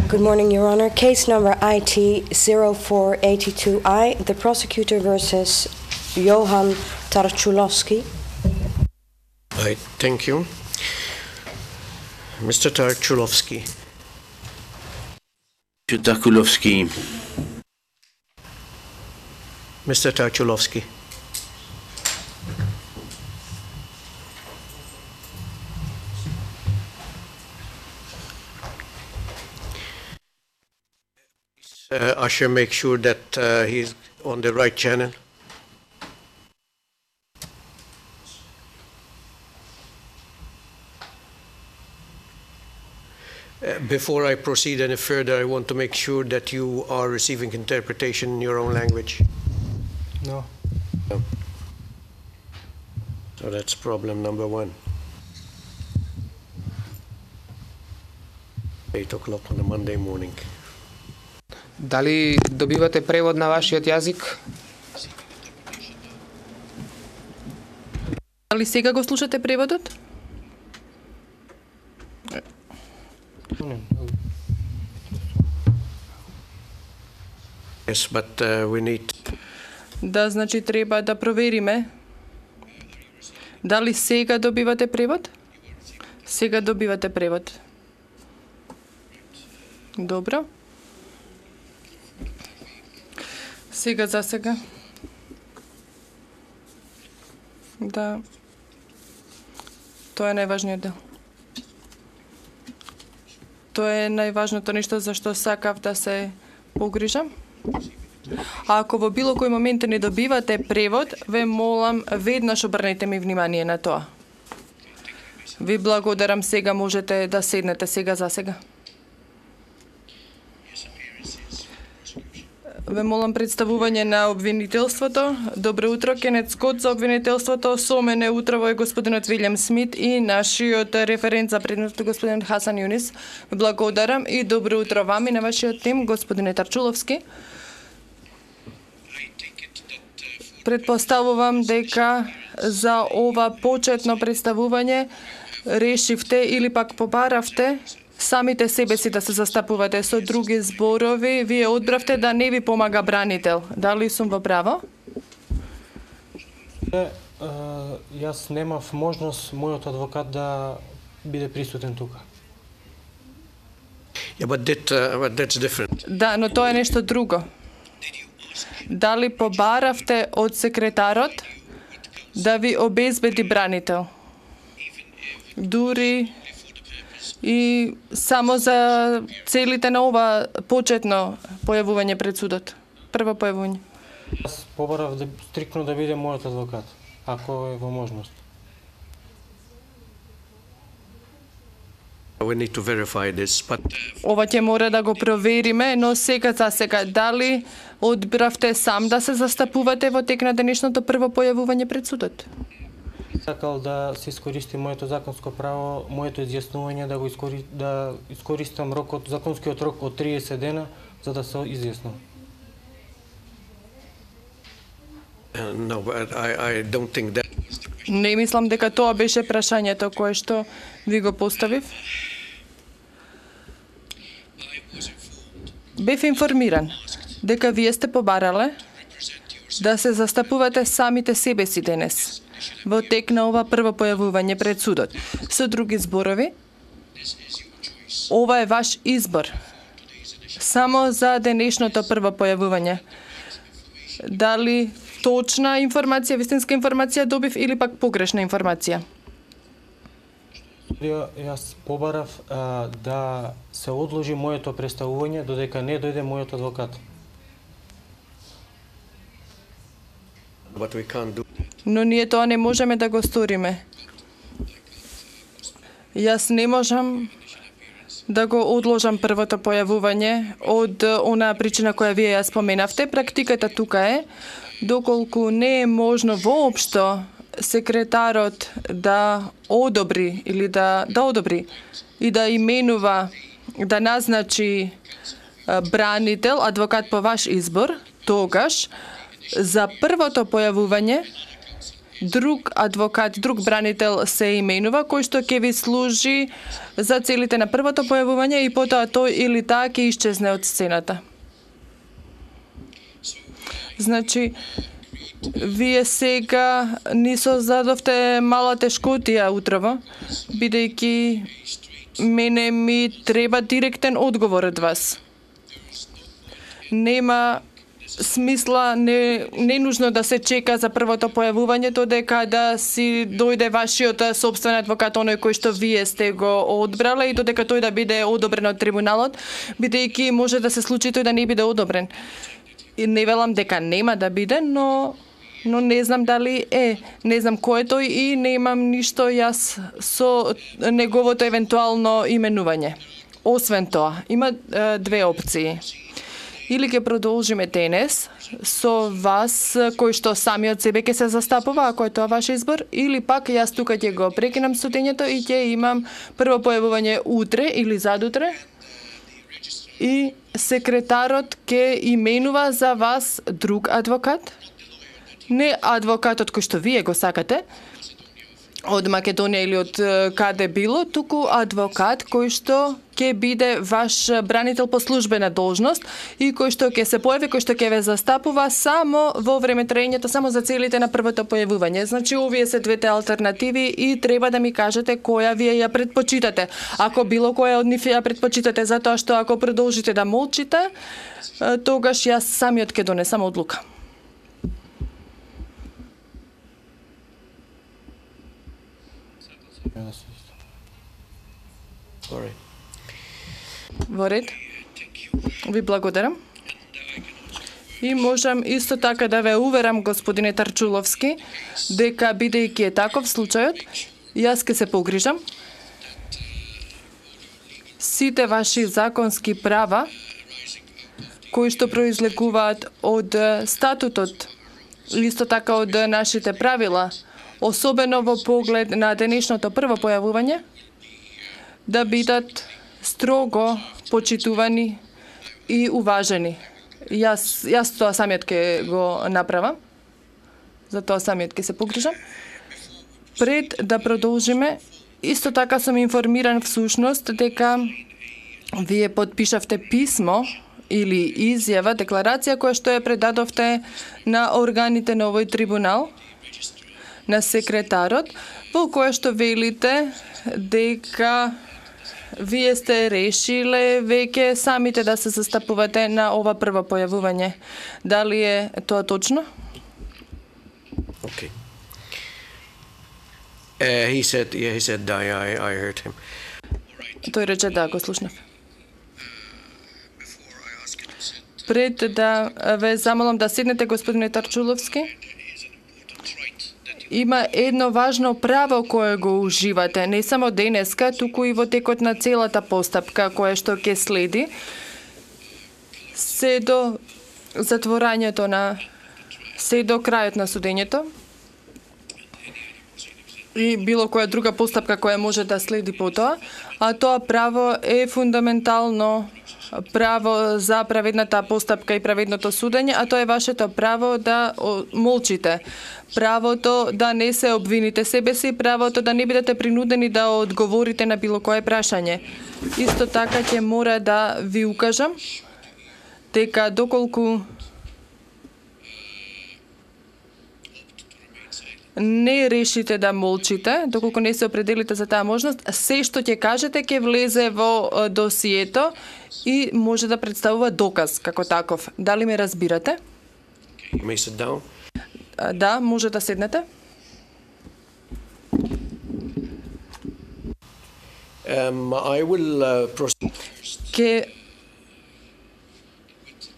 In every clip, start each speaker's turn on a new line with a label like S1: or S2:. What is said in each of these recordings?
S1: Good morning, Your Honor. Case number IT 0482I, the prosecutor versus Johan Tarczulowski.
S2: Thank you. Mr. Tarczulowski.
S3: Mr. Tarczulowski.
S2: Mr. Tarczulowski. Usher, make sure that he's on the right channel. Before I proceed any further, I want to make sure that you are receiving interpretation in your own language.
S4: No.
S2: No. So that's problem number one. 8 o'clock on a Monday morning.
S4: Дали добивате превод на вашиот јазик?
S5: Дали сега го слушате преводот?
S2: Yes, but we need...
S5: Да, значи треба да провериме. Дали сега добивате превод? Сега добивате превод. Добро. Сега за сега. Да. Тоа е најважниот дел. Тоа е најважното нешто за што сакав да се погрижам. А ако во било кој момент не добивате превод, ве молам веднаш обрнете ми внимание на тоа. Ви благодарам, сега можете да седнете сега за сега. Ве молам представување на обвинителството. Добро утро, Кенет Скот за обвинителството. Со мене утрово е господинот Вилјам Смит и нашиот референт за предметот господин Хасан Юнис. Ве благодарам и добро утро вам и на вашиот тим, господине Тарчуловски. Предпоставувам дека за ова почетно представување решивте или пак побаравте самите себе си да се застапувате. Со други зборови, вие одбравте да не ви помага бранител. Дали сум во право?
S6: Јас немав можност мојот адвокат да биде присутен тука.
S2: Yeah, but that's different.
S5: Да, но тоа е нешто друго. Дали побаравте од секретарот да ви обезбеди бранител? Дури и само за целите на ова почетно појавување пред судот. Прво појавување.
S6: Јас побарав стрикно да биде мојот адвокат, ако е во можност.
S2: We need to verify this, but...
S5: Ова ќе мора да го провериме, но сега за сега дали одбравте сам да се застапувате во тек на денешното прво појавување пред судот?
S6: Сакал да се искористи моето законско право, моето изјаснување да искористам законскиот рок од 30 дена за да се изјаснам.
S2: No, but I don't think that...
S5: Не мислам дека тоа беше прашањето кое што ви го поставив. Бев информиран дека вие сте побарале да се застапувате самите себе си денес во тек на ова прво појавување пред судот. Со други зборови, ова е ваш избор. Само за денешното прво појавување. Дали точна информација, вистинска информација добив или пак погрешна информација?
S6: Јас побарав да се одложи моето представување додека не дојде мојот адвокат.
S2: But we can't do...
S5: Но ние тоа не можеме да го сториме. Јас не можам да го одложам првото појавување од онаа причина која вие ја споменавте. Практиката тука е, доколку не е можно воопшто секретарот да одобри или да одобри и да именува, да назначи бранител, адвокат по ваш избор, тогаш за првото појавување друг адвокат, друг бранител се именува, кој што ќе ви служи за целите на првото појавување и потоа тој или таа ќе исчезне од сцената. Значи, вие сега ни создадовте мала тешкотија утрово, бидејќи мене ми треба директен одговор од вас. Нема смисла, не нужно да се чека за првото појавување, додека да си дојде вашиот собствен адвокат, оној кој што вие сте го одбрале и додека тој да биде одобрен од трибуналот, бидејќи може да се случи тој да не биде одобрен. И не велам дека нема да биде, но не знам дали не знам кој е тој и немам ништо јас со неговото евентуално именување. Освен тоа, има две опции. Или ќе продолжиме денес со вас кој што сами од себе ќе се застапува, ако е тоа ваш избор, или пак јас тука ќе го прекинам судењето и ќе имам прво појавување утре или задутре и секретарот ќе именува за вас друг адвокат, не адвокатот кој што вие го сакате, од Македонија или од каде било, туку адвокат кој што ќе биде ваш бранител по службена должност и кој што ќе се појави, кој што ќе ве застапува само во време траењето, само за целите на првото појавување. Значи, овие се двете алтернативи и треба да ми кажете која вие ја предпочитате. Ако било која од нив ја предпочитате, затоа што ако продолжите да молчите, тогаш јас самиот ќе донесам одлука. Во ред. Ви благодарам. И можам исто така да ве уверам, господине Тарчуловски, дека бидејќи е таков случајот, јас ке се погрижам сите ваши законски права кои што произлегуваат од статутот, исто така од нашите правила, особено во поглед на денешното прво појавување, да бидат строго почитувани и уважени. Јас тоа самиот ќе го направам. За тоа самиот ќе се погрижам. Пред да продолжиме, исто така сум информиран всушност дека вие подпишавте писмо или изјава, декларација која што ја предадовте на органите на овој трибунал, на секретарот, во која што велите дека вие сте решиле веќе самите да се застапувате на ова прво појавување. Дали е тоа точно?
S2: Okay. He said I heard him.
S5: Тој рече да, го слушнав. Пред да ве замолам да седнете, господине Тарчуловски, има едно важно право кое го уживате, не само денеска, туку и во текот на целата постапка која што ќе следи, се до затворањето се до крајот на судењето и било која друга постапка која може да следи по тоа, а тоа право е фундаментално право за праведната постапка и праведното судење, а тоа е вашето право да молчите. Правото да не се обвините себе си, правото да не бидете принудени да одговорите на било кое прашање. Исто така ќе мора да ви укажам дека доколку не решите да молчите, доколку не се определите за таа можност, се што ќе кажете ќе влезе во досието и може да представува доказ како таков. Дали ме разбирате?
S2: May sit down.
S5: Да, може да седнете.
S2: I will proceed.
S5: Ке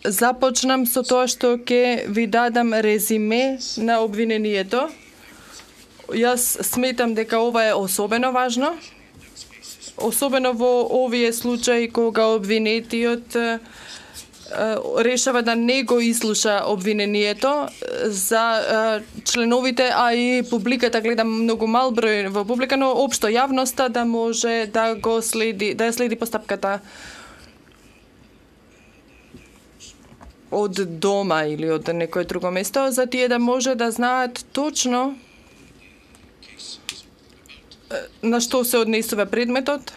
S5: започнам со тоа што ќе ви дадам резиме на обвинението. Јас сметам дека ова е особено важно, особено во овие случаи кога обвинетиот решава да не го ислуша обвинението. За членовите, а и публиката, гледам многу мал број во публика, но општо јавноста да може да го следи, да ја следи постапката од дома или од некое друго место, за тие да може да знаат точно на што се однесува предметот.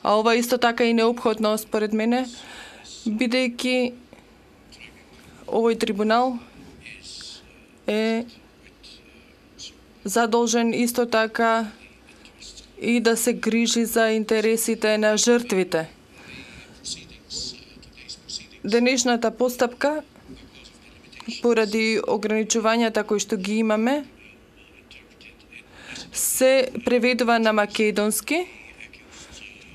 S5: А ова исто така и неопходно според мене, бидејќи овој трибунал е задолжен исто така и да се грижи за интересите на жртвите. Денешната постапка, поради ограничувањата кои што ги имаме, се преведува на македонски,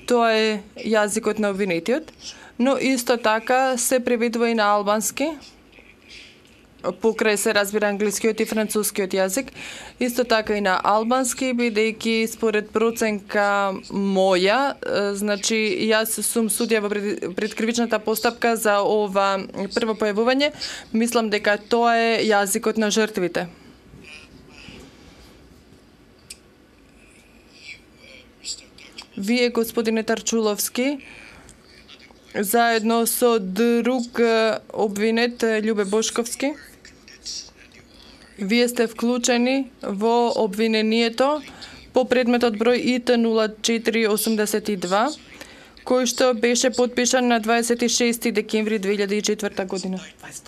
S5: тоа е јазикот на обвинетиот, но исто така се преведува и на албански, покрај се разбира англискиот и францускиот јазик, исто така и на албански, бидејќи според проценка моја, значи јас сум судија во предкривичната постапка за ова прво појавување, мислам дека тоа е јазикот на жртвите. Вие, господине Тарчуловски, заедно со друг обвинет Љубе Бошковски, вие сте вклучени во обвинението по предметот број ИТ0482, кој што беше подпишан на 26 декември 2004 година.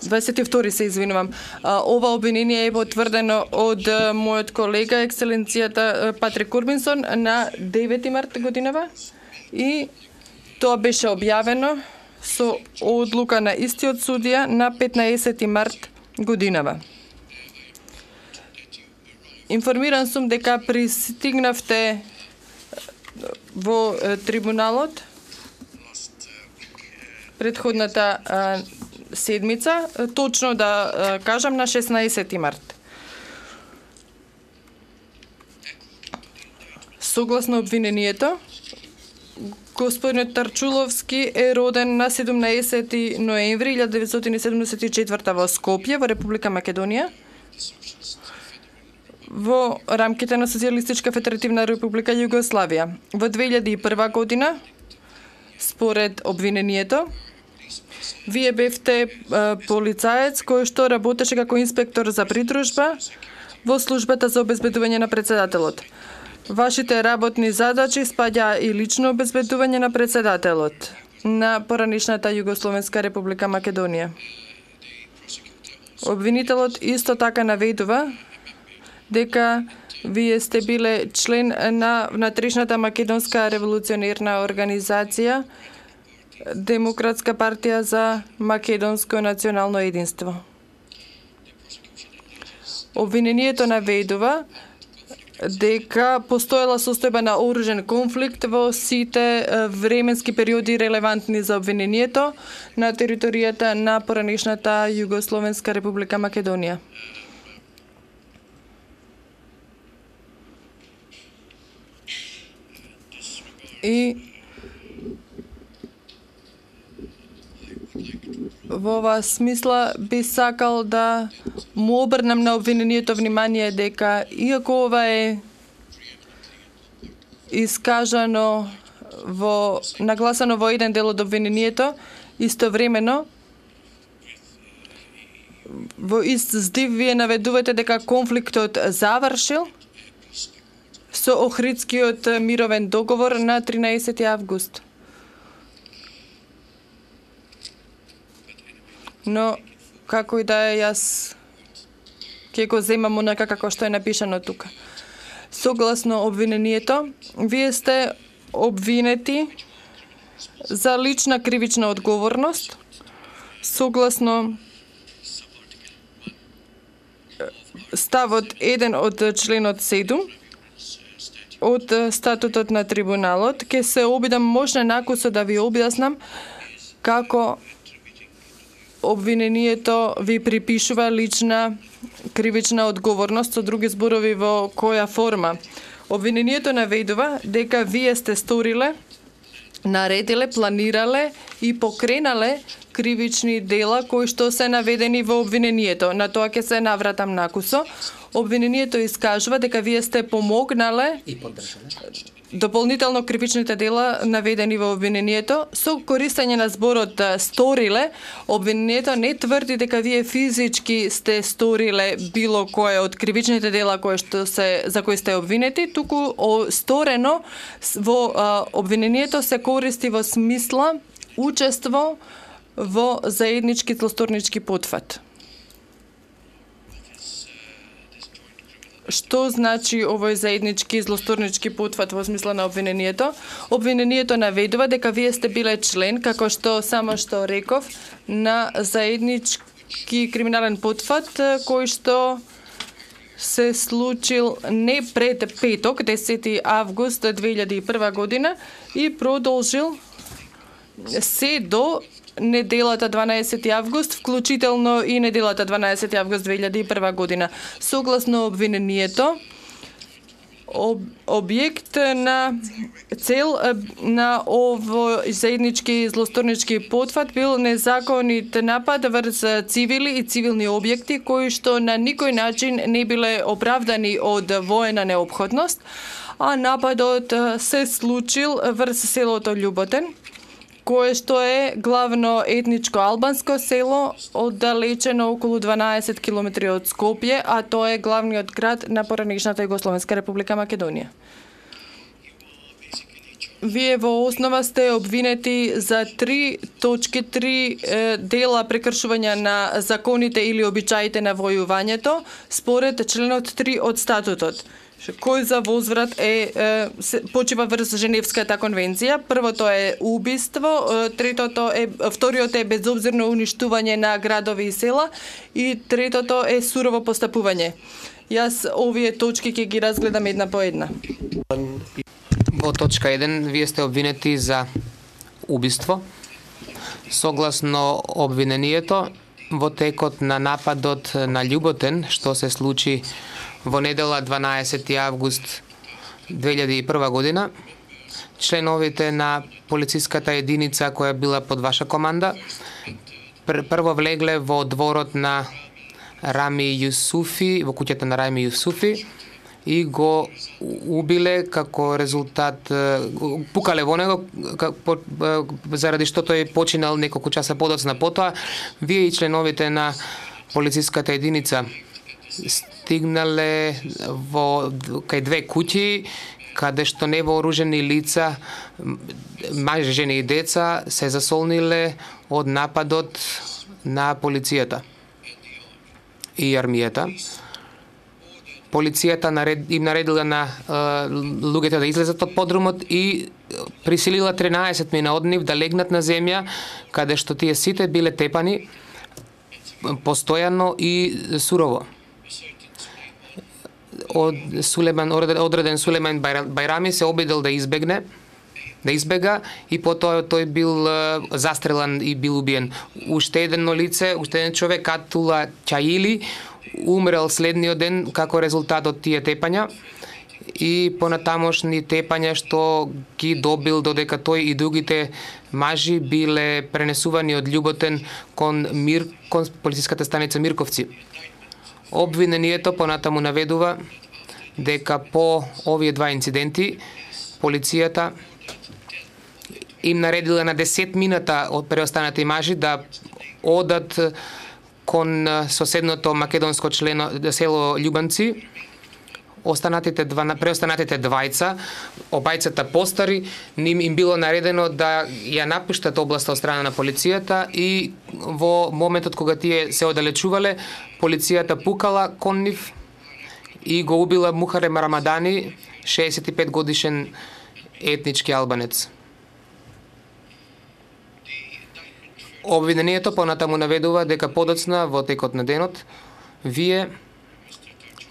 S5: 22 се извинувам. Ова обвинение е потврдено од мојот колега, екселенцијата Патрик Курбинсон, на 9 март годинава и тоа беше објавено со одлука на истиот судија на 15 март годинава. Информиран сум дека пристигнавте во трибуналот предходната седмица, точно да кажам на 16 март. Согласно обвинението, господинот Тарчуловски е роден на 17 ноември 1974 во Скопје, во Република Македонија, во рамките на Социјалистичка федеративна република Југославија. Во 2001 година, според обвинението, вие бевте полицаец кој што работеше како инспектор за придружба во службата за обезбедување на председателот. Вашите работни задачи спаѓа и лично обезбедување на председателот на поранешната Југословенска република Македонија. Обвинителот исто така наведува дека вие сте биле член на внатрешната македонска револуционерна организација Демократска партија за македонско национално единство. Обвинението наведува дека постоела состојба на оружен конфликт во сите временски периоди релевантни за обвинението на територијата на поранешната Југословенска република Македонија. И во оваа смисла би сакал да му обрнам на обвинението внимание дека иако ова е искажано нагласано во еден дел од обвинението, истовремено во ист здив вие наведувате дека конфликтот завршил со Охридскиот мировен договор на 13 август. Но, како и да е, јас ќе го земам онака како што е напишано тука. Согласно обвинението, вие сте обвинети за лична кривична одговорност, согласно ставот 1 од членот 7 од статутот на трибуналот. Ке се обидам можна накусо да ви објаснам како обвинението ви припишува лична кривична одговорност, со други зборови во која форма. Обвинението наведува дека вие сте сториле, наредиле, планирале и покренале кривични дела кои што се наведени во обвинението. На тоа ќе се навратам накусо. Обвинението искажува дека вие сте помогнале
S4: И поддржале.
S5: дополнително кривичните дела наведени во обвинението со користење на зборот сториле. Обвинението не тврди дека вие физички сте сториле било кое од кривичните дела за кои сте обвинети, туку сторено во обвинението се користи во смисла учество во заеднички злосторнички потфат. Што значи овој заеднички злосторнички потфат во смисла на обвинението? Обвинението наведува дека вие сте биле член, како што само што реков, на заеднички криминален потфат кој што се случил не пред петок, 10 август 2001 година и продолжил се до неделата 12 август, вклучително и неделата 12 август 2001 година. Согласно обвинението, објект на цел на овој заеднички злосторнички потфат бил незаконит напад врз цивили и цивилни објекти кои што на никој начин не биле оправдани од воена неопходност, а нападот се случил врз селото Љуботен, кое што е главно етничко албанско село, оддалечено околу 12 километри од Скопје, а тоа е главниот град на поранешната Југословенска република Македонија. Вие во основа сте обвинети за 3 дела прекршување на законите или обичаите на војувањето, според членот 3 од статутот, кој за возврат почива врз Женевската конвенција. Првото е убиство, вториот е безобзирно уништување на градови и села и третото е сурово постапување. Јас овие точки ќе ги разгледам една по една.
S4: Во точка 1 вие сте обвинети за убиство. Согласно обвинението, во текот на нападот на Љуботен, што се случи во недела 12 август 2001 година, членовите на полициската единица која била под ваша команда прво влегле во дворот на Рами Јусуфи, во куќата на Рами Јусуфи и го убиле како резултат, пукале во него заради што тој починал неколку часа подоцна потоа. Вие и членовите на полициската единица стигнале кај две куќи каде што невооружени лица, мажи, жени и деца се засолниле од нападот на полицијата и армијата. Полицијата им наредила на луѓето да излезат од подрумот и присилила 13 мина од нив да легнат на земја, каде што тие сите биле тепани постојано и сурово. Одреден Сулеман Бајрами се обидел да избега и потоа тој бил застрелан и бил убиен. Уште едно лице, уште еден човек, Атула Чаили, умрел следниот ден како резултат од тие тепања и понатамошни тепања што ги добил додека тој и другите мажи биле пренесувани од Љуботен кон полициската станица Мирковци. Обвинението понатаму наведува дека по овие два инциденти полицијата им наредила на 10 минута од преостанати мажи да одат кон соседното македонско село Љубанци. Преостанатите двајца, обајцата постари, им било наредено да ја напуштат областа од страна на полицијата и во моментот кога тие се оддалечувале, полицијата пукала кон нив и го убила Мухарем Рамадани, 65 годишен етнички албанец. Обвинението понатаму наведува дека подоцна во текот на денот вие,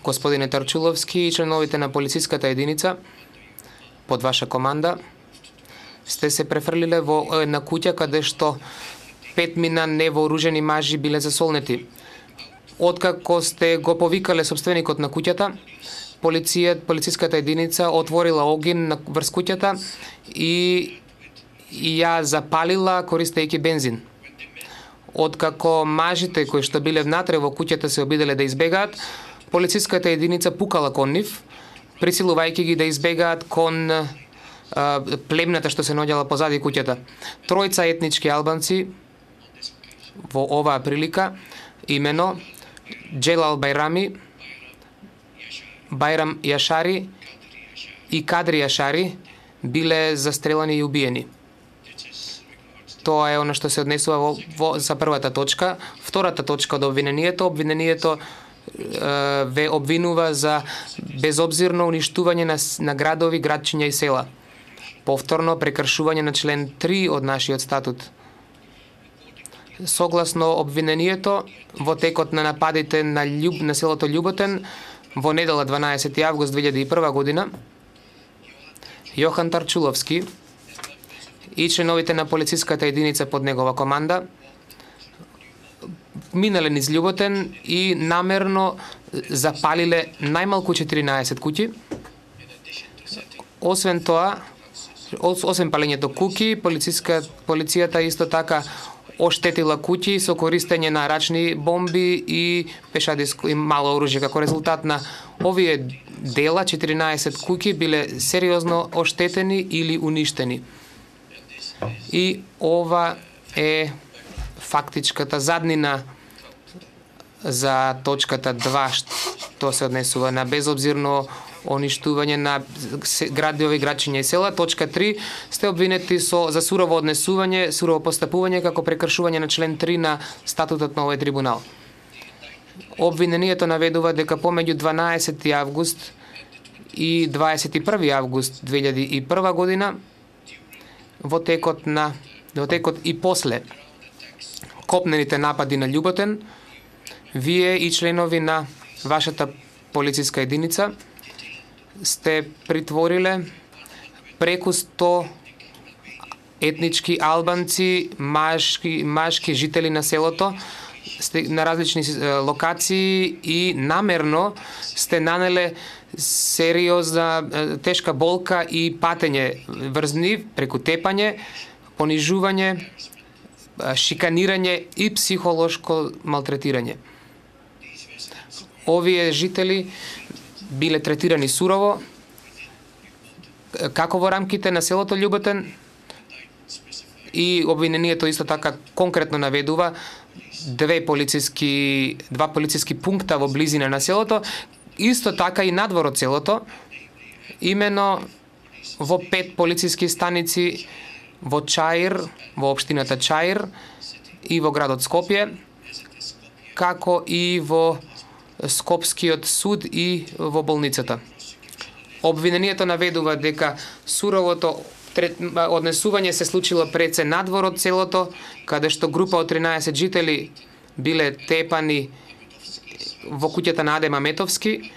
S4: господине Тарчуловски и членовите на полициската единица под ваша команда сте се префрлиле во една куќа каде што 5 мина невооружени мажи биле засолнети. Откако сте го повикале собственикот на куќата, полициската единица отворила огин врз куќата и ја запалила користејќи бензин. Откако мажите кои што биле внатре во куќата се обиделе да избегаат, полициската единица пукала кон нив, присилувајќи ги да избегаат кон племната што се наоѓала позади куќата. Тројца етнички албанци во оваа прилика, имено Джелал Байрами, Байрам Јашари и Кадри Јашари, биле застрелани и убиени. Тоа е она што се однесува за првата точка. Втората точка од обвинението ве обвинува за безобзирно уништување на градови, градчиња и села. Повторно прекршување на член 3 од нашиот статут. Согласно обвинението, во текот на нападите на селото Љуботен, во недела 12 август 2001 година, Јохан Тарчуловски и членовите на полициската единица под негова команда минале низ Љуботен и намерно запалиле најмалку 14 куќи. Освен тоа, освен палењето куќи, полицијата исто така оштетила куќи со користење на рачни бомби и пешадиско и мало оружје. Како резултат на овие дела, 14 куќи биле сериозно оштетени или уништени. И ова е фактичката заднина за точката 2, што се однесува на безобзирно уништување на градови, градчиња и села. Точка 3, сте обвинети за сурово однесување, сурово постапување како прекршување на член 3 на статутот на овој трибунал. Обвинението наведува дека помеѓу 12 август и 21 август 2001 година, во текот и после копнените напади на Љуботен, вие и членови на вашата полициска единица сте притвориле преку 100 етнички албанци, машки жители на селото, на различни локации и намерно сте нанеле сериозна тешка болка и патење врз нив преку тепање, понижување, шиканирање и психолошко малтретирање. Овие жители биле третирани сурово, како во рамките на селото Љуботен, и обвинението исто така конкретно наведува два полициски пункта во близина на селото, исто така и надвор од селото, имено во 5 полициски станици во Чаир, во општината Чаир и во градот Скопје, како и во Скопскиот суд и во болницата. Обвинението наведува дека суровото однесување се случило пред се надвор од селото, каде што група од 13 жители биле тепани во куќата на Аде Маметовски,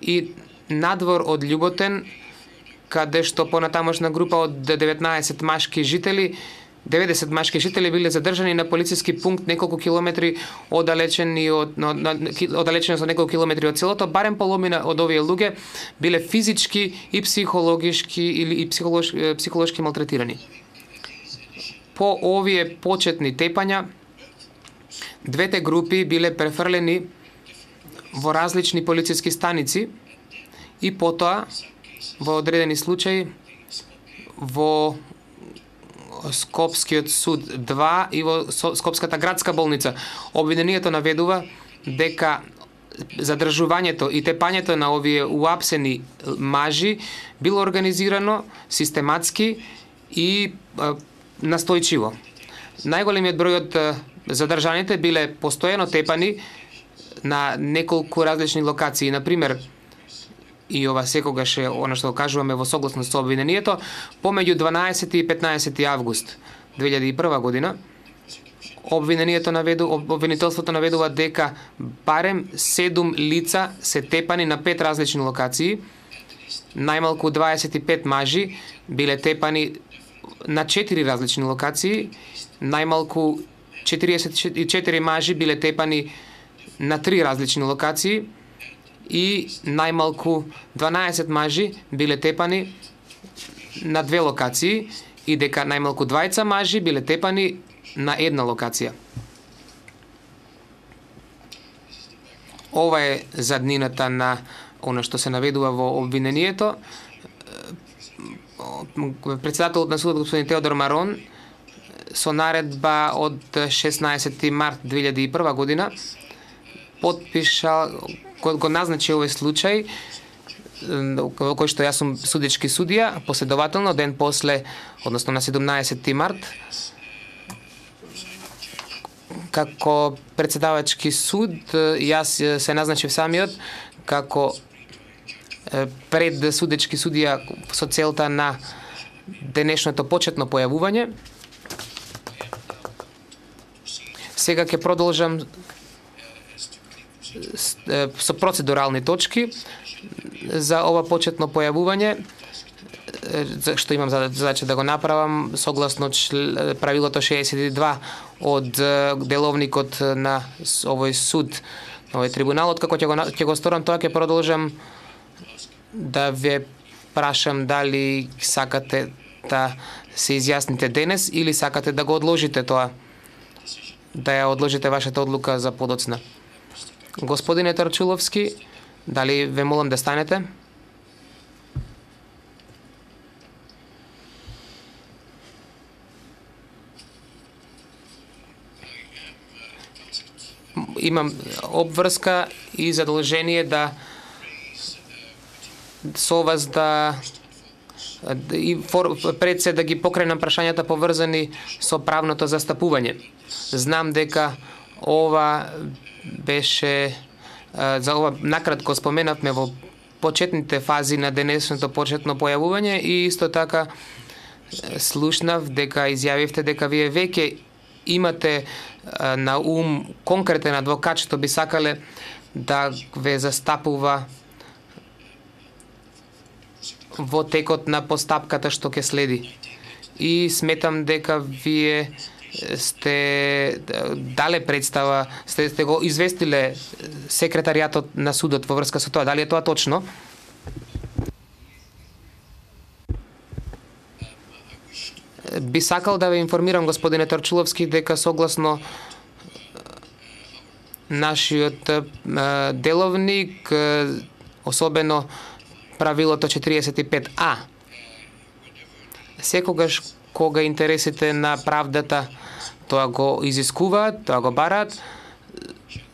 S4: и надвор од Љуботен, каде што понатамошна група од 90 машки жители биле задржани на полициски пункт неколку километри оддалечени од неколку километри од селото. Барем половина од овие луѓе биле физички и психологички или психолошки малтретирани. По овие почетни тепања, двете групи биле префрлени во различни полициски станици и потоа во одредени случаи во Скопскиот суд 2 и во Скопската градска болница. Обвинението наведува дека задржувањето и тепањето на овие уапсени мажи било организирано систематски и настојчиво. Најголемиот број од задржаните биле постојано тепани на неколку различни локации. Например, и ова секогаш е она што го кажуваме во согласност со обвинението, помеѓу 12 и 15 август 2001 година, обвинителството наведува дека барем 7 лица се тепани на 5 различни локации, најмалку 25 мажи биле тепани на 4 различни локации, најмалку 44 мажи биле тепани на 3 различни локации и најмалку 12 мажи биле тепани на 2 локации и дека најмалку 20 мажи биле тепани на 1 локација. ова е заднината на она што се наведува во обвинението. Председателот на судот господин Теодор Марон со наредба од 16 март 2001 година подпишал, го назначи овој случај во кој што јас сум судечки судија, последователно ден после, односно на 17 март, како председавачки суд, јас се назначив самиот како пред судечки судија со целта на денешното почетно појавување. Сега ќе продолжам со процедурални точки за ова почетно појавување, што имам задача да го направам согласно правилото 62 од деловникот на овој суд, на овој трибунал. Откако ќе го сторам тоа, ќе продолжам да ве прашам дали сакате да се изјасните денес или сакате да го одложите тоа, да ја одложите вашата одлука за подоцна. Господине Тарчуловски, дали ве молам да станете? Имам обврска и задолжение да со вас пред се да ги покренам прашањата поврзани со правното застапување. Знам дека ова беше, за ова накратко споменавме во почетните фази на денешното почетно појавување и исто така слушнав дека изјавивте дека вие веќе имате на ум конкретен адвокат што би сакале да ве застапува во текот на постапката што ќе следи. И сметам дека вие сте дале представа, сте го известиле секретаријатот на судот во врска со тоа. Дали е тоа точно? Би сакал да ве информирам, господине Тарчуловски, дека согласно нашиот деловник, особено правилото 45А, секогаш кога интересите на правдата тоа го изискуваат, тоа го бараат,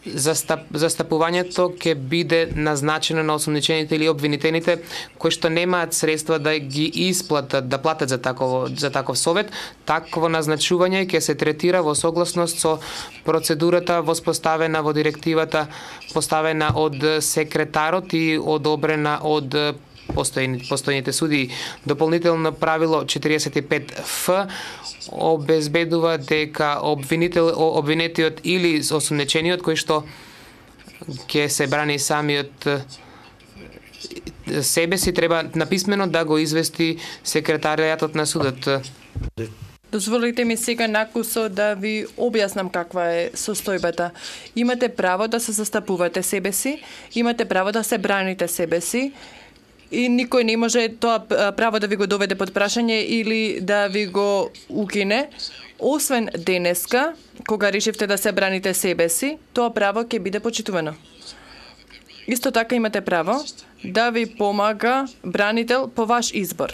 S4: застапувањето ќе биде назначено на осомничените или обвинетените кои што немаат средства да ги исплатат, да платат за таков совет. Такво назначување ќе се третира во согласност со процедурата воспоставена во директивата, поставена од секретарот и одобрена од постојните судии. Дополнително правило 45Ф обезбедува дека обвинетиот или осомнечениот кој што ќе се брани самиот себе си треба написмено да го извести секретаријатот на судот.
S5: Дозволите ми сега накусо да ви објаснам каква е состојбата. Имате право да се застапувате себе си, имате право да се браните себе си, и никој не може тоа право да ви го доведе под прашање или да ви го укине, освен денеска, кога решивте да се браните себе си, тоа право ќе биде почитувано. Исто така имате право да ви помага бранител по ваш избор.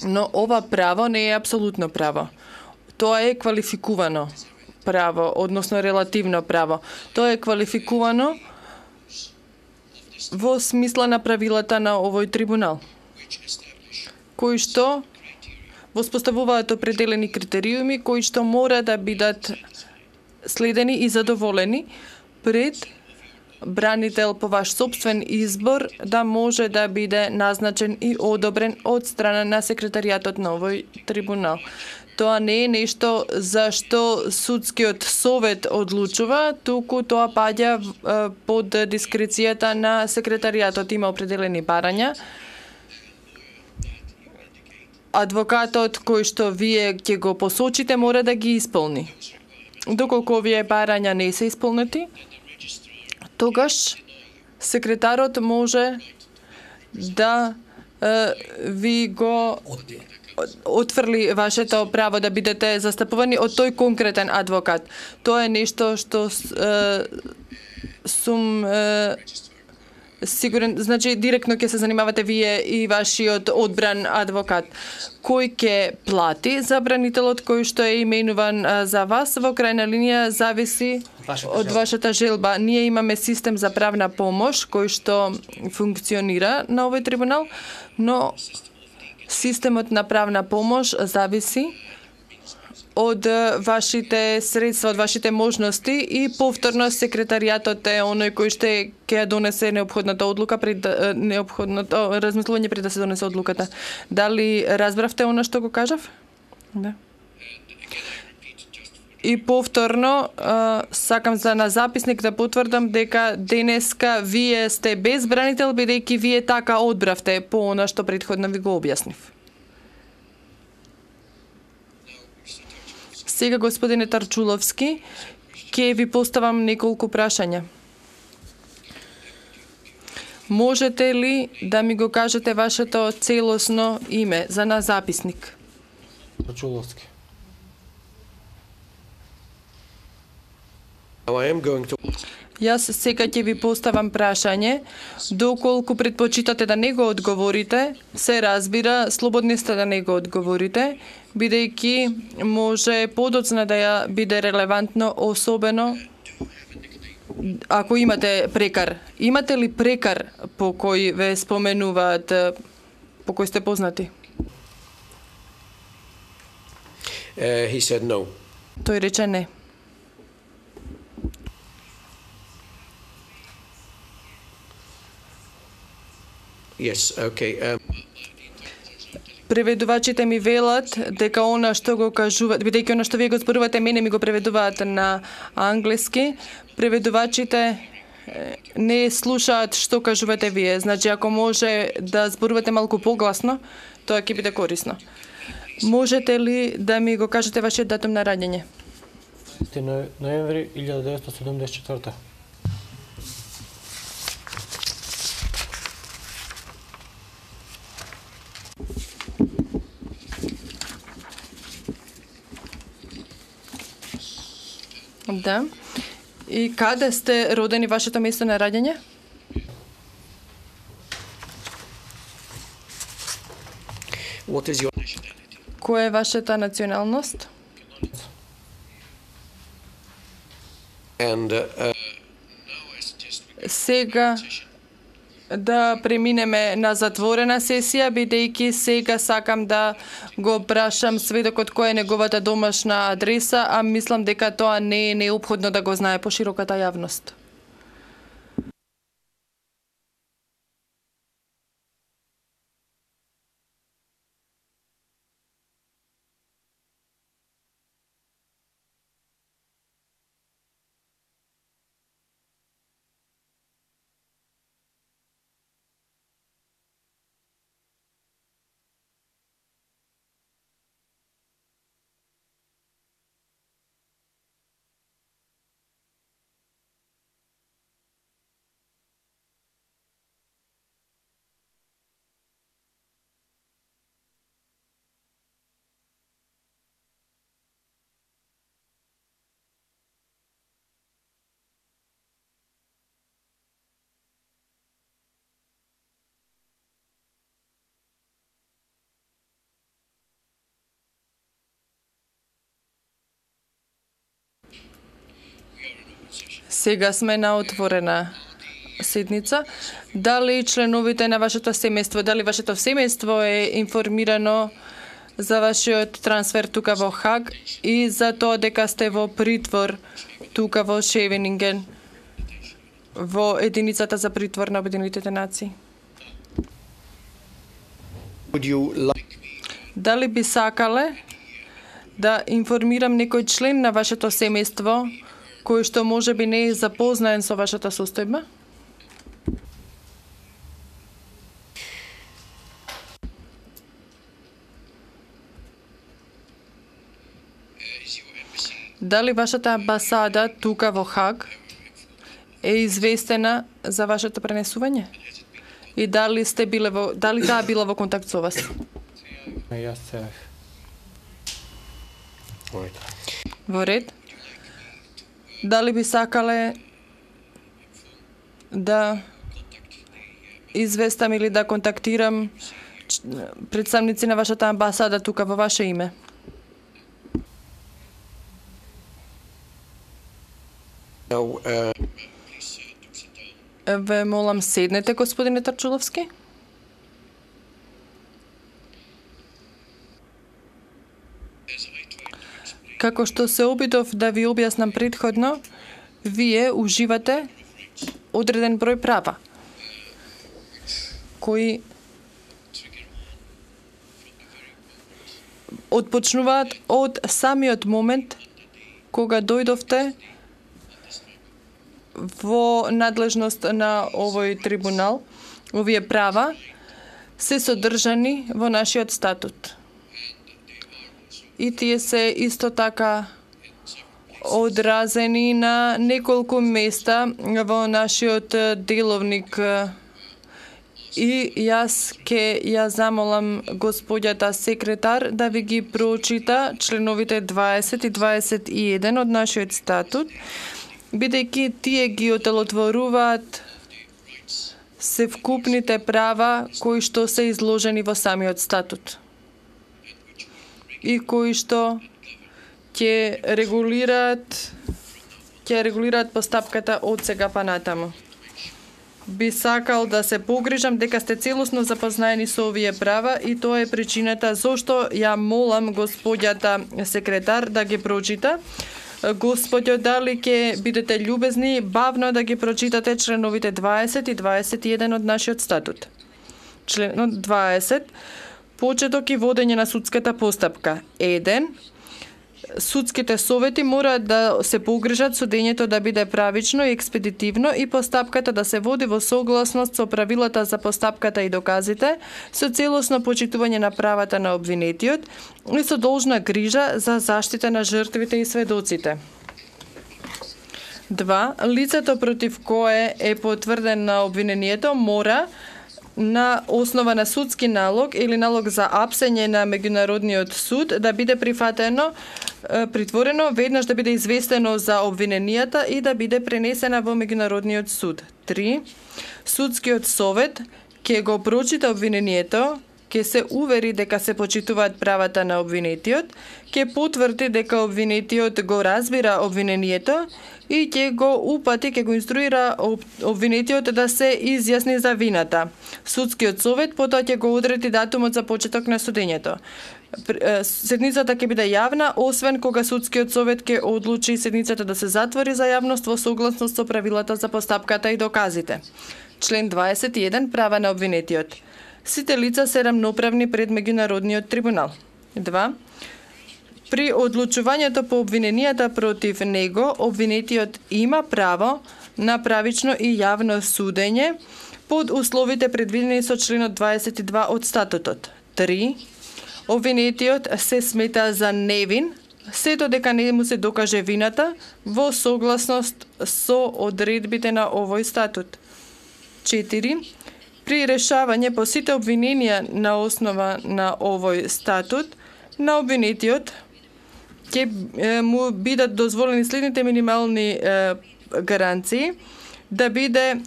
S5: Но ова право не е апсолутно право. Тоа е квалификувано право, односно релативно право. Тоа е квалификувано во смисла на правилата на овој трибунал, кои што воспоставуваат определени критериуми кои што мора да бидат следени и задоволени пред бранител по ваш собствен избор да може да биде назначен и одобрен од страна на секретаријатот на овој трибунал. Тоа не е нешто за што судскиот совет одлучува, туку тоа паѓа под дискрецијата на секретаријатот. Има определени барања. Адвокатот кој што вие ќе го посочите мора да ги исполни. Доколку овие барања не се исполнети, тогаш секретарот може да ви го отфрли вашето право да бидете застапувани од тој конкретен адвокат. Тоа е нешто што сум сигурен, значи директно ќе се занимавате вие и вашиот одбран адвокат. Кој ќе плати забранителот кој што е именуван за вас? Во крајна линија зависи од вашата желба. Ние имаме систем за правна помош кој што функционира на овој трибунал, но системот на правна помош зависи од вашите средства, од вашите можности и повторно секретаријатот е оној кој што ќе донесе неопходната одлука неопходното размислување пред да се донесе одлуката. Дали разбравте она што го кажав? Да. И повторно сакам за на записник да потврдам дека денеска вие сте безбранител бидејќи вие така одбравте по она што претходно ви го објаснив. Сега, господине Тарчуловски, ќе ви поставам неколку прашања. Можете ли да ми го кажете вашето целосно име за на записник?
S6: Тарчуловски.
S5: Јас сега ќе ви поставам прашање. Доколку предпочитате да не го одговорите, се разбира, слободни сте да не го одговорите, бидејќи може подоцна да ја биде релевантно, особено ако имате прекар. Имате ли прекар по кој ве споменуваат, по кој сте познати?
S2: He said no.
S5: Тој рече не.
S2: Yes, okay.
S5: Преведувачите ми велат дека она што го кажуваат, бидејќи она што вие го зборувате, мене ми го преведуваат на англиски, преведувачите не слушаат што кажувате вие. Значи, ако може да зборувате малку погласно, тоа ќе биде корисно. Можете ли да ми го кажете вашиот датум на раѓање?
S6: Ноември 1974.
S5: Да. И каде сте родени, вашето место на раѓање?
S2: What is your...
S5: Која е вашата националност?
S2: And
S5: Сега да преминеме на затворена сесија, бидејќи сега сакам да го прашам сведокот која е неговата домашна адреса, а мислам дека тоа не е неопходно да го знае по широката јавност. Сега сме на отворена седница. Дали членовите на вашето семејство, дали вашето семејство е информирано за вашиот трансфер тука во Хаг и за тоа дека сте во притвор тука во Шевенинген, во единицата за притвор на Обединетите нации? Дали би сакале да информирам некој член на вашето семејство кој што може би не е запознаен со вашата состојба? Дали вашата амбасада тука во Хаг е известена за вашето пренесување? И дали сте биле дали таа била во контакт со вас?
S6: Јас се
S5: Во ред. Дали би сакале да известам или да контактирам представници на вашата амбасада тука во ваше име. Ве молам седнете, господине Тарчуловски. Како што се обидов да ви објаснам претходно, вие уживате одреден број права, кои отпочнуваат од самиот момент кога дојдовте во надлежност на овој трибунал. Овие права се содржани во нашиот статут. И тие се исто така одразени на неколку места во нашиот деловник. И јас ќе ја замолам господјата секретар да ви ги прочита членовите 20 и 21 од нашиот статут, бидејќи тие ги отелотворуваат севкупните права кои што се изложени во самиот статут и кои што ќе регулираат постапката од сега па натаму. Би сакал да се погрижам дека сте целосно запознаени со овие права и тоа е причината зошто ја молам господјата секретар да ги прочита. Господјо, дали ќе бидете љубезни бавно да ги прочитате членовите 20 и 21 од нашиот статут. Членот 20. Почеток и водење на судската постапка. 1. Судските совети мораат да се погрижат судењето да биде правично и експедитивно и постапката да се води во согласност со правилата за постапката и доказите, со целосно почитување на правата на обвинетиот и со должна грижа за заштита на жртвите и сведоците. 2. Лицето против кое е потврден на обвинението мора на основа на судски налог или налог за апсење на меѓународниот суд да биде притворено, веднаш да биде известено за обвиненијата и да биде пренесена во меѓународниот суд. 3. Судскиот совет ќе го прочита обвинението, ќе се увери дека се почитуваат правата на обвинетиот, ќе потврди дека обвинетиот го разбира обвинението и ќе го упати, ќе го инструира обвинетиот да се изјасни за вината. Судскиот совет потоа ќе го одреди датумот за почеток на судењето. Седницата ќе биде јавна, освен кога судскиот совет ќе одлучи седницата да се затвори за јавност во согласност со правилата за постапката и доказите. Член 21. Права на обвинетиот. Сите лица се рамноправни пред меѓународниот трибунал. 2. При одлучувањето по обвиненијата против него, обвинетиот има право на правично и јавно судење под условите предвидени со членот 22 од статутот. 3. Обвинетиот се смета за невин, сето дека не му се докаже вината во согласност со одредбите на овој статут. 4. При решавање по сите обвиненија на основа на овој статут, на обвинетиот ќе му бидат дозволени следните минимални гаранции: да биде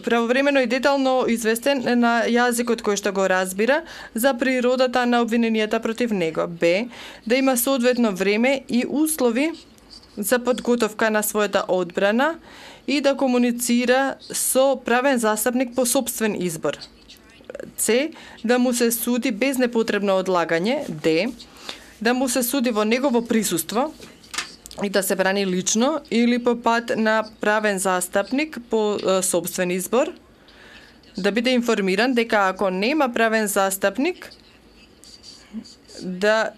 S5: правовремено и детално известен на јазикот кој што го разбира за природата на обвиненијата против него. Б. Да има соодветно време и услови за подготовка на својата одбрана и да комуницира со правен застапник по сопствен избор. С. Да му се суди без непотребно одлагање. Д. Да му се суди во негово присуство и да се брани лично или по пат на правен застапник по сопствен избор. Да биде информиран дека ако нема правен застапник, да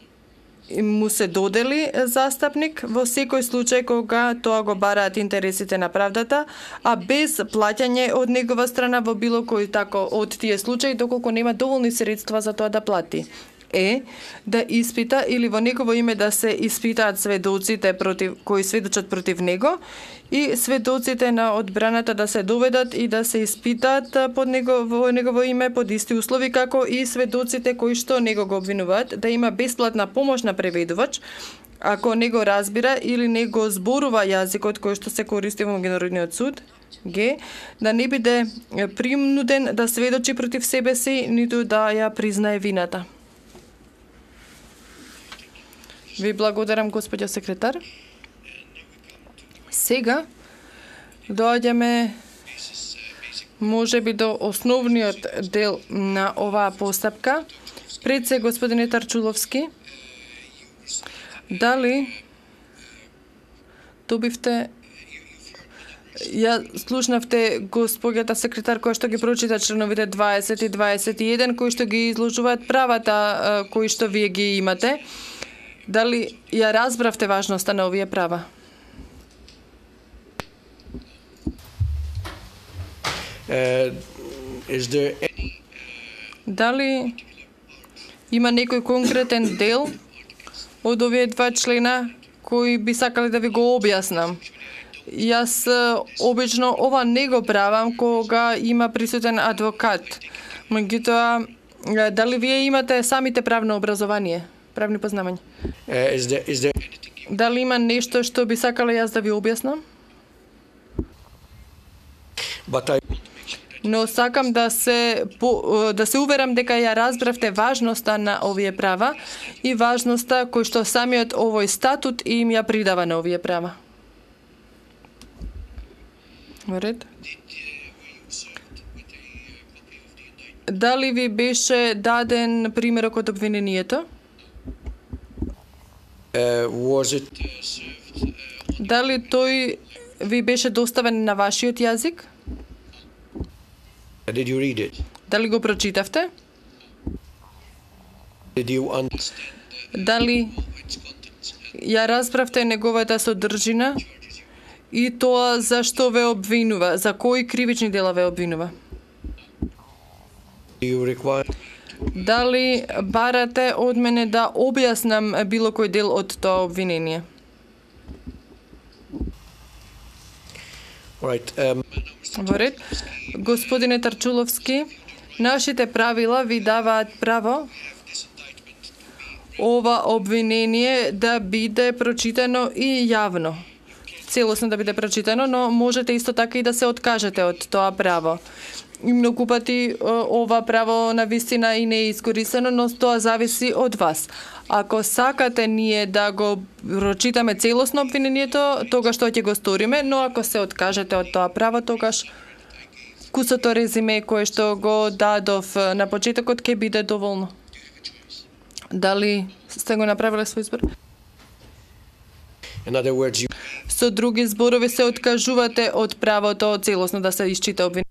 S5: му се додели застапник во секој случај кога тоа го бараат интересите на правдата, а без плаќање од негова страна во било кој тако од тие случаи доколку нема доволни средства за тоа да плати. Е. Да испита или во негово име да се испитаат сведоците кои сведочат против него и сведоците на одбраната да се доведат и да се испитаат во негово име под исти услови како и сведоците кои што него го обвинуваат, да има бесплатна помош на преведувач, ако не го разбира или не го зборува јазикот кој што се користи во меѓународниот суд, Г, да не биде принуден да сведочи против себе си, ниту да ја признае вината. Ви благодарам, господја секретар. Сега доаѓаме можеби до основниот дел на оваа постапка. Пред се, господине Тарчуловски, дали добивте, ја слушнавте господјата секретар која што ги прочита членовите 20 и 21 кои што ги изложуваат правата кои што вие ги имате. Дали ја разбравте важноста на овие права? Дали има некој конкретен дел од овие два члена кои би сакали да ви го објаснам? Јас обично ова не го правам кога има присутен адвокат. Меѓутоа, дали вие имате самите правно образование, правни познавања? Дали има нешто што би сакала јас да ви објаснам? Но сакам да се уверам дека ја разбравте важноста на овие права и важноста кој што самиот овој статут им ја придава на овие права. Во ред? Дали ви беше даден примерок од обвинението? Дали тој ви беше доставен на вашиот јазик?
S2: Did you read it?
S5: Дали го прочитавте?
S2: Did you understand
S5: Дали ја разбравте неговата содржина и тоа за што ве обвинува, за кои кривични дела ве обвинува?
S2: Do you require
S5: Дали барате од мене да објаснам било кој дел од тоа обвинение?
S2: Right.
S5: Во ред. Господине Тарчуловски, нашите правила ви даваат право ова обвинение да биде прочитано и јавно. Целосно да биде прочитано, но можете исто така и да се откажете од тоа право. И многу пати ова право на вистина и не е искористено, но тоа зависи од вас. Ако сакате ние да го прочитаме целосно обвинението, тогаш тоа ќе го сториме, но ако се откажете од тоа право, тогаш кусото резиме кое што го дадов на почетокот ќе биде доволно. Дали сте го направиле свој избор?
S2: In other words,
S5: Со други зборови се откажувате од правото целосно да се исчита обвинението.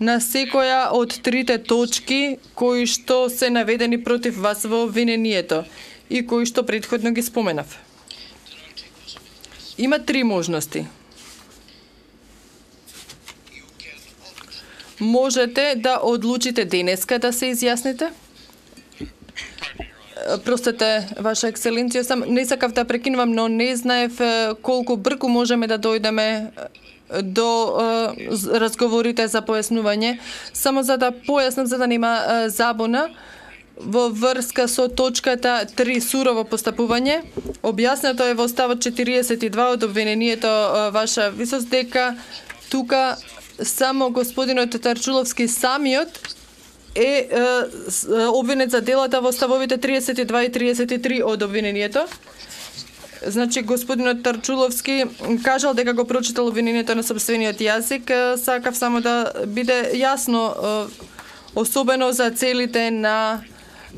S5: На секоја од трите точки кои што се наведени против вас во обвинението и кои што претходно ги споменав. Има три можности. Можете да одлучите денеска да се изјасните. Простете, Ваша екселенција, сам не сакав да прекинувам, но не знаев колку брзо можеме да дојдеме до разговорите за појаснување. Само за да појаснам, за да нема забуна, во врска со точката 3 сурово постапување, објаснето е во ставот 42 од обвинението, Ваша висост, дека тука само господинот Тарчуловски самиот е обвинет за делата во ставовите 32 и 33 од обвинението. Значи, господинот Тарчуловски кажал дека го прочитал обвинението на сопствениот јазик. Сакав само да биде јасно, особено за целите на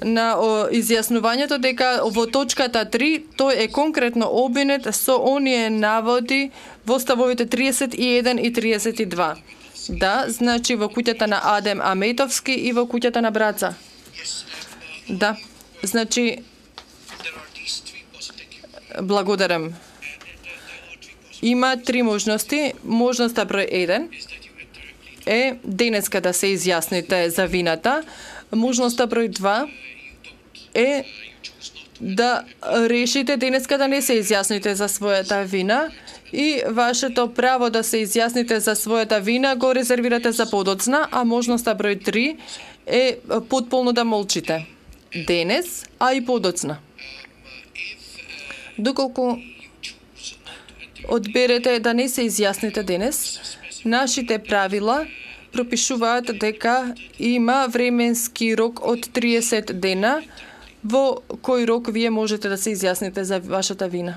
S5: изјаснувањето, дека во точката 3 тој е конкретно обвинет со оние наводи во ставовите 31 и 32. Да, значи во куќата на Адем Аметовски и во куќата на Браца. Да, значи, благодарам. Има три можности. Можноста број 1 е денеска да се изјасните за вината. Можноста број 2 е да решите денеска да не се изјасните за својата вина и вашето право да се изјасните за својата вина го резервирате за подоцна, а можноста број 3 е потполно да молчите. Денес, а и подоцна. Доколку одберете да не се изјасните денес, нашите правила пропишуваат дека има временски рок од 30 дена во кој рок вие можете да се изјасните за вашата вина.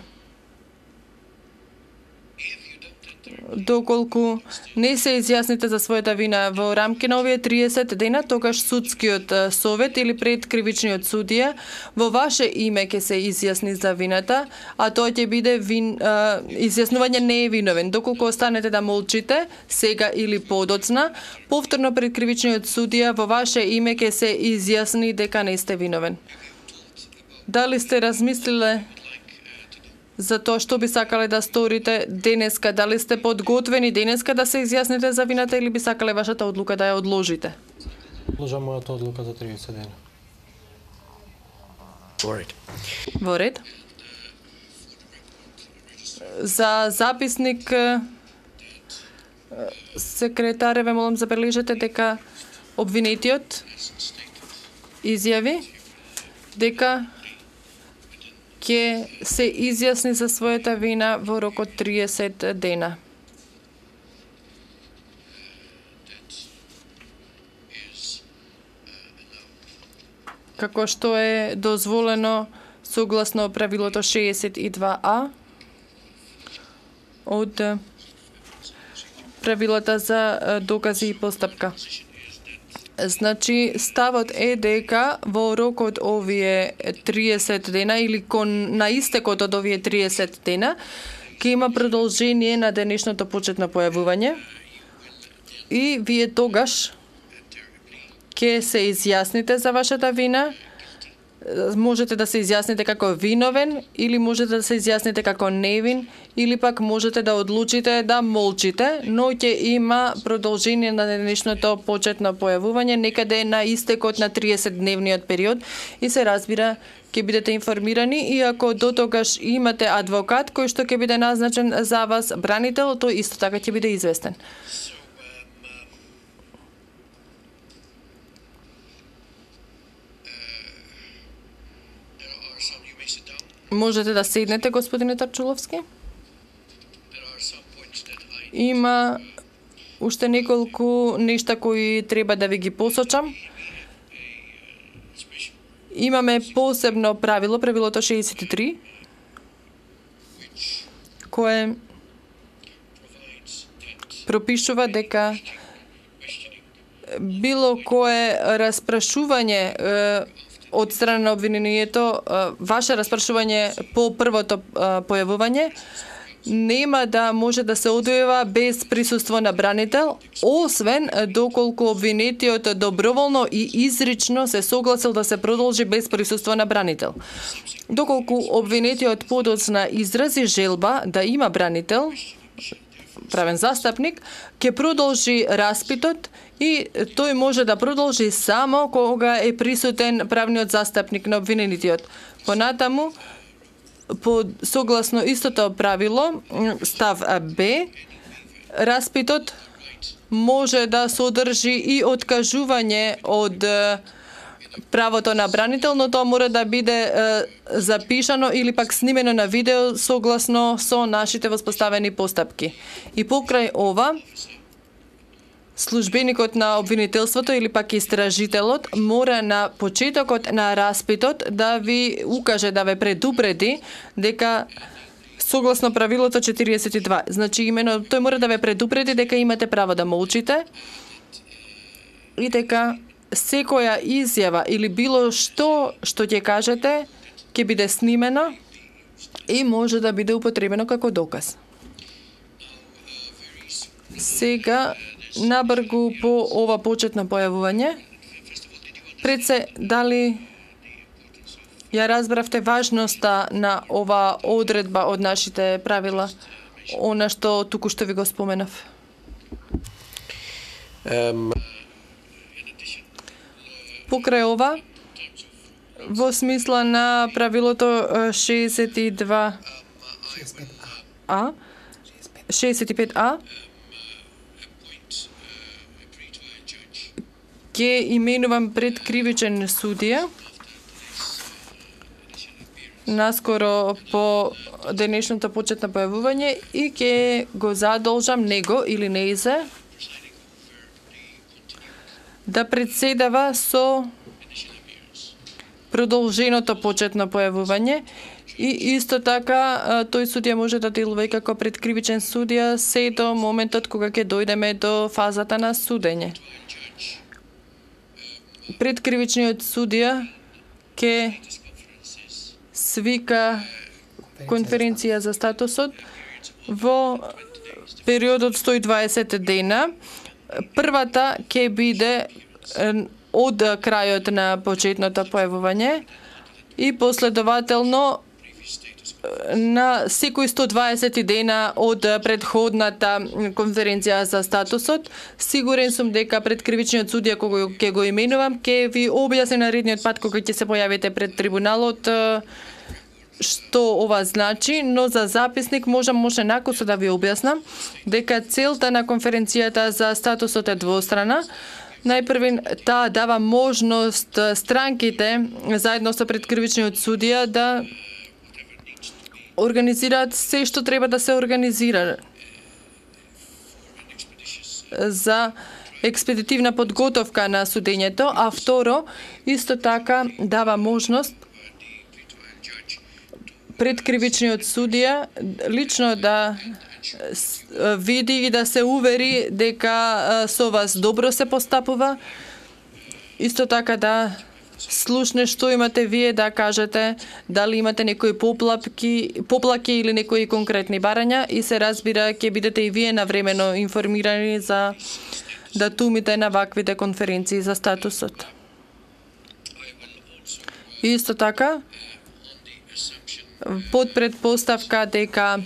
S5: Доколку не се изјасните за својата вина во рамки на овие 30 дена, тогаш судскиот совет или предкривичниот судија во ваше име ќе се изјасни за вината, а тоа ќе биде изјаснување не е виновен. Доколку останете да молчите, сега или подоцна, повторно предкривичниот судија во ваше име ќе се изјасни дека не сте виновен. Дали сте размислиле за тоа што би сакале да сторите денеска? Дали сте подготвени денеска да се изјасните за вината или би сакале вашата одлука да ја одложите?
S6: Одложам мојата одлука за 30 дена.
S5: Во ред. За записник секретаре ве молам забележете дека обвинетиот изјави дека ќе се изјасни за својата вина во рок од 30 дена. Како што е дозволено согласно правилото 62А од правилата за докази и постапка. Значи, ставот е дека во рок од овие 30 дена или на истекот од овие 30 дена ќе има продолжение на денешното почетно појавување и вие тогаш ќе се изјасните за вашата вина. Можете да се изјасните како виновен или можете да се изјасните како невин или пак можете да одлучите да молчите, но ќе има продолжение на денешното почетно појавување некаде на истекот на 30-дневниот период и се разбира ќе бидете информирани и ако до тогаш имате адвокат кој што ќе биде назначен за вас бранител, тој исто така ќе биде известен. Можете да седнете, господине Тарчуловски. Има уште неколку нешта кои треба да ви ги посочам. Имаме посебно правило, правилото 63, кое пропишува дека било кое распрашување од страна на обвинението, ваше распрашување по првото појавување, нема да може да се одвива без присуство на бранител, освен доколку обвинетиот доброволно и изрично се согласил да се продолжи без присуство на бранител. Доколку обвинетиот подоцна изрази желба да има бранител, правен застапник, ќе продолжи распитот и тој може да продолжи само кога е присутен правниот застапник на обвинетиот. Понатаму, согласно истото правило, став Б, распитот може да содржи и откажување од правото на бранител, но тоа мора да биде запишано или пак снимено на видео согласно со нашите воспоставени постапки. И покрај ова, службеникот на обвинителството или пак истражителот мора на почетокот на распитот да ви укаже, да ве предупреди дека согласно правилото 42. Значи имено тој мора да ве предупреди дека имате право да молчите и дека секоја изјава или било што ќе кажете ќе биде снимено и може да биде употребено како доказ. Сега набргу по ова почетно појавување. Пред се, дали ја разбравте важноста на ова одредба од нашите правила, она што туку што ви го споменав? Покрај ова, во смисла на правилото 65А, 65А, ќе именувам пред кривичен судија, наскоро по денешното почетно појавување и ќе го задолжам него или нејзе да председава со продолженото почетно појавување и исто така тој судија може да делува и како предкривичен судија се до моментот кога ќе дојдеме до фазата на судење. Предкривичниот судија ќе свика конференција за статусот во периодот 120 дена. Првата ќе биде од крајот на почетното појавување и последователно на секој 120 дена од предходната конференција за статусот. Сигурен сум дека предкривичниот судија кога ќе го именувам ќе ви објасни наредниот пат кога ќе се појавите пред трибуналот што ова значи, но за записник можам накусо да ви објаснам дека целта на конференцијата за статусот е двострана. Најпрвен, таа дава можност странките заедно со предкривичниот судија да организираат се што треба да се организира за експедитивна подготовка на судењето, а второ, исто така дава можност предкривичниот судија лично да види и да се увери дека со вас добро се постапува, исто така да слушне што имате вие да кажете, дали имате некои поплаки или некои конкретни барања и се разбира ќе бидете и вие навремено информирани за датумите на ваквите конференции за статусот. Исто така, под предпоставка дека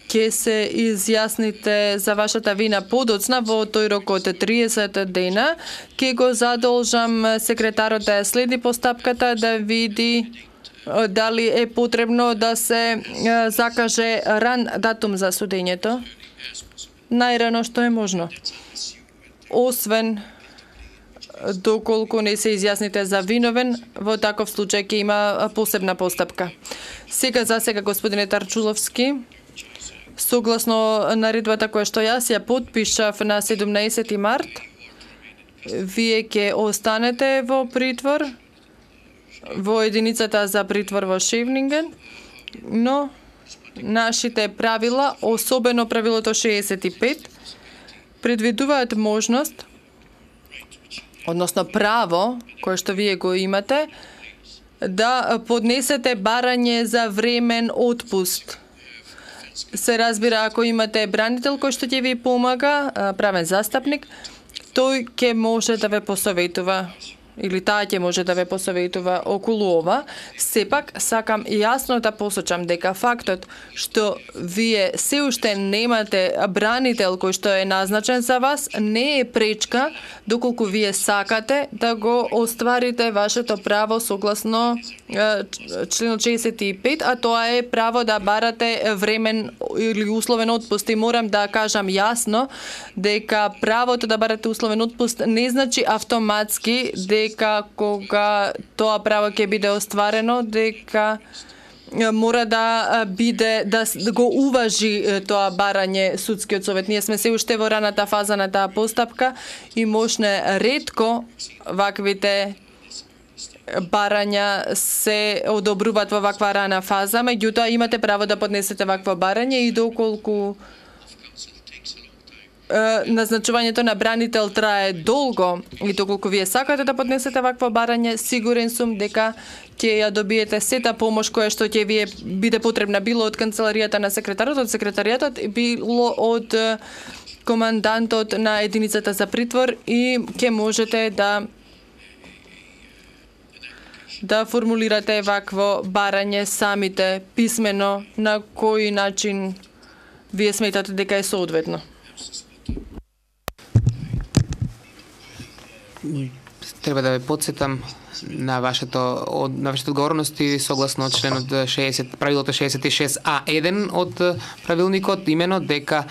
S5: ќе се изјасните за вашата вина подоцна во тој рок од 30 дена, ќе го задолжам секретарот да следи постапката, да види дали е потребно да се закаже ран датум за судењето, најрано што е можно. Освен доколку не се изјасните за виновен, во таков случај ќе има посебна постапка. За сега, господине Тарчуловски, согласно наредбата која што јас ја потпишав на 17 март, вие ќе останете во притвор, во единицата за притвор во Шевнинген, но нашите правила, особено правилото 65, предвидуваат можност, односно право, кое што вие го имате, да поднесете барање за времен отпуст. Се разбира, ако имате бранител кој што ќе ви помага, правен застапник, тој ќе може да ве посоветува или таа ќе може да ве посоветува околу ова. Сепак, сакам јасно да посочам дека фактот што вие се уште немате бранител кој што е назначен за вас, не е пречка доколку вие сакате да го остварите вашето право согласно членот 65, а тоа е право да барате времен или условен отпуст. И морам да кажам јасно дека правото да барате условен отпуст не значи автоматски дека кога тоа право ќе биде остварено, дека мора да биде да го уважи тоа барање судскиот совет. Ние сме се уште во раната фаза на таа постапка и можне ретко ваквите барања се одобруваат во ваква рана фаза, меѓутоа имате право да поднесете вакво барање и доколку назначувањето на бранител трае долго и доколку вие сакате да поднесете вакво барање, сигурен сум дека ќе ја добиете сета помош која што ќе вие биде потребна, било од канцеларијата на секретарот, од секретаријатот, било од командантот на единицата за притвор и ќе можете да формулирате вакво барање самите писмено на кој начин вие сметате дека е соодветно.
S4: Треба да ве подсетам на вашите одговорности согласно членот 60, правилото 66А1 од правилникот, имено дека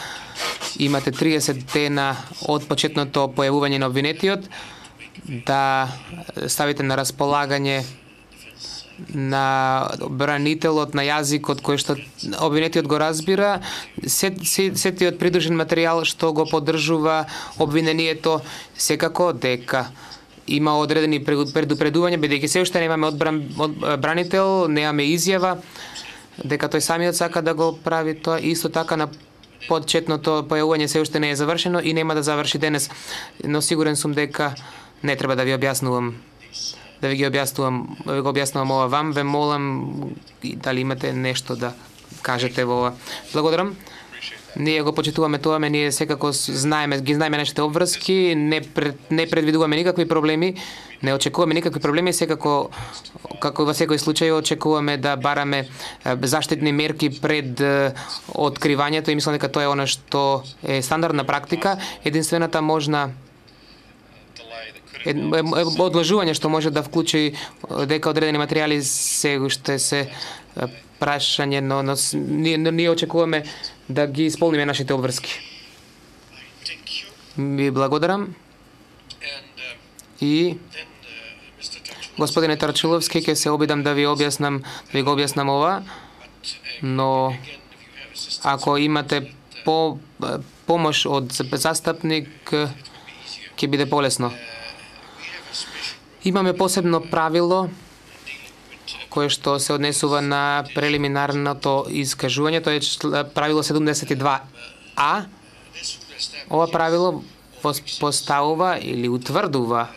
S4: имате 30 дена од почетното појавување на обвинетиот да ставите на располагање на бранителот на јазикот кој што обвинетиот го разбира, сетиот придружен материјал што го поддржува обвинението, секако дека има одредени предупредувања, бидејќи се уште немаме одбранител, немаме изјава дека тој самиот сака да го прави тоа. Исто така на почетното појавување се уште не е завршено и нема да заврши денес, но сигурен сум дека не треба да ви објаснувам. Да ви го објаснувам ова вам, ве молам дали имате нешто да кажете во ова. Благодарам. Ние го почитуваме тоа, ние секако ги знаеме нашите обврски, не предвидуваме никакви проблеми, не очекуваме никакви проблеми, секако како во секој случај очекуваме да бараме заштитни мерки пред откривањето и мислам дека тоа е она што е стандардна практика. Единствената можна одложување што може да вклучи дека одредени материјали се уште се прашање, но ние очекуваме да ги исполниме нашите обврски. Ви благодарам. И господине Тарчуловски, ќе се обидам да ви го објаснам ова, но ако имате помош од застапник, ќе биде полесно. Имаме посебно правило кое што се однесува на прелиминарното искажување, тоа е правило 72А. Ова правило поставува или утврдува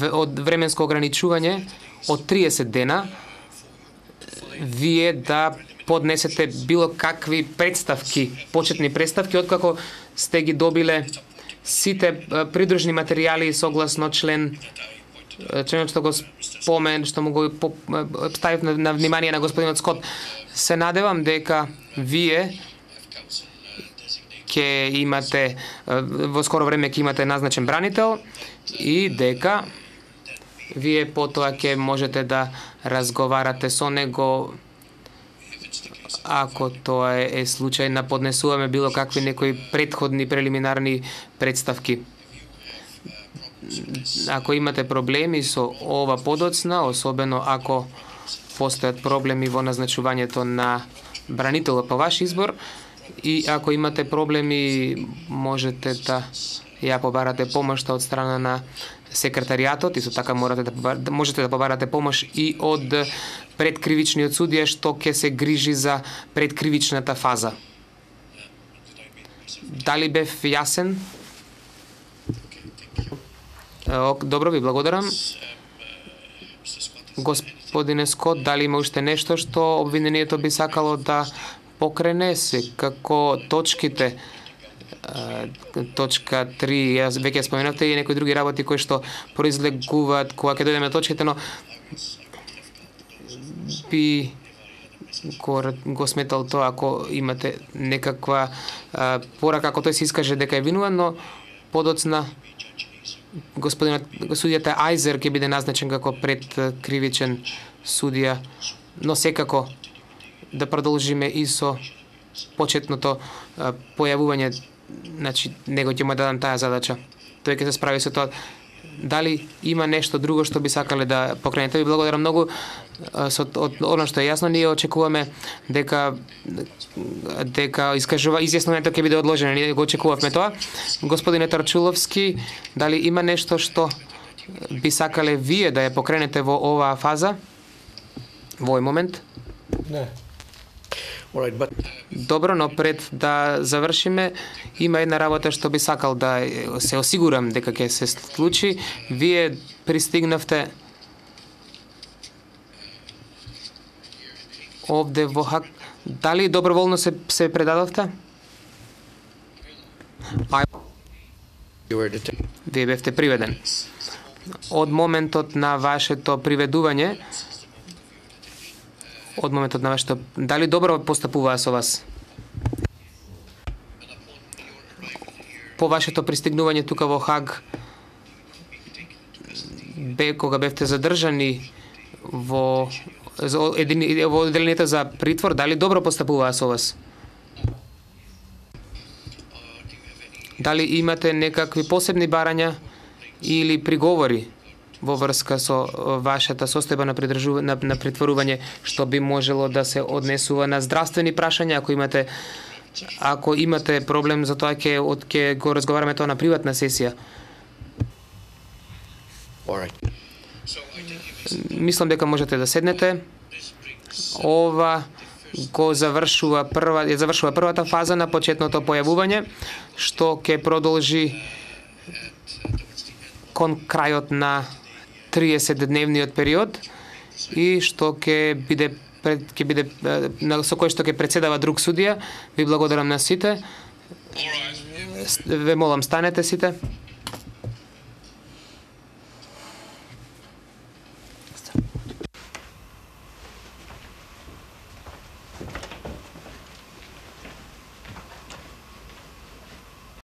S4: од временско ограничување од 30 дена вие да поднесете било какви представки, почетни представки, откако сте ги добиле сите придружни материјали согласно членот што го што му го ставив на внимание на господинот Скот. Се надевам дека вие ќе имате во скоро време ќе имате назначен бранител и дека вие потоа ќе можете да разговарате со него ако тоа е случај на поднесуваме било какви некои претходни прелиминарни представки. Ако имате проблеми со ова подоцна, особено ако постојат проблеми во назначувањето на бранителот по ваш избор, и ако имате проблеми можете да ја побарате помош од страна на секретаријатот, исто така можете да побарате помош и од предкривичниот судија што ќе се грижи за предкривичната фаза. Дали бев јасен? Добро, ви благодарам. Господине Скот, дали има уште нешто што обвинението би сакало да покрене се, како точките, точка 3, јас веќе споменавте и некои други работи кои што произлегуваат кога ќе дојдеме точките, но би го сметал тоа ако имате некаква порака, ако тој се искаже дека е винуван, но подоцна судијата Ајзер ќе биде назначен како предкривичен судија, но секако да продолжиме и со почетното појавување, значи него ќе му дадам таа задача. Тој ќе се справи со тоа. Дали има нешто друго што би сакале да покренете? Ви благодарам многу. Од оно што е јасно, ние очекуваме дека изјаснувањето ќе биде одложено. Ние го очекувавме тоа. Господине Тарчуловски, дали има нешто што би сакале вие да ја покренете во оваа фаза? Во овој момент?
S6: Не.
S4: Добро, но пред да завршиме, има една работа што би сакал да се осигурам дека ќе се случи. Вие пристигнавте овде во Хаг. Дали доброволно се предадовте? Вие бевте приведен. Од моментот на вашето приведување, дали добро постапуваа со вас? по вашето пристигнување тука во Хаг, кога бевте задржани во одделението за притвор, дали добро постапуваа со вас? Дали имате некакви посебни барања или приговори во врска со вашата состојба на притворување, што би можело да се однесува на здравствени прашања? Ако имате проблем за тоа, ќе го разговараме тоа на приватна сесија. Мислам дека можете да седнете. Ова го завршува првата фаза на почетното појавување, што ќе продолжи кон крајот на 30-дневниот период и што ќе биде со кој што ќе председава друг судија. Ви благодарам на сите. Ве молам, станете сите.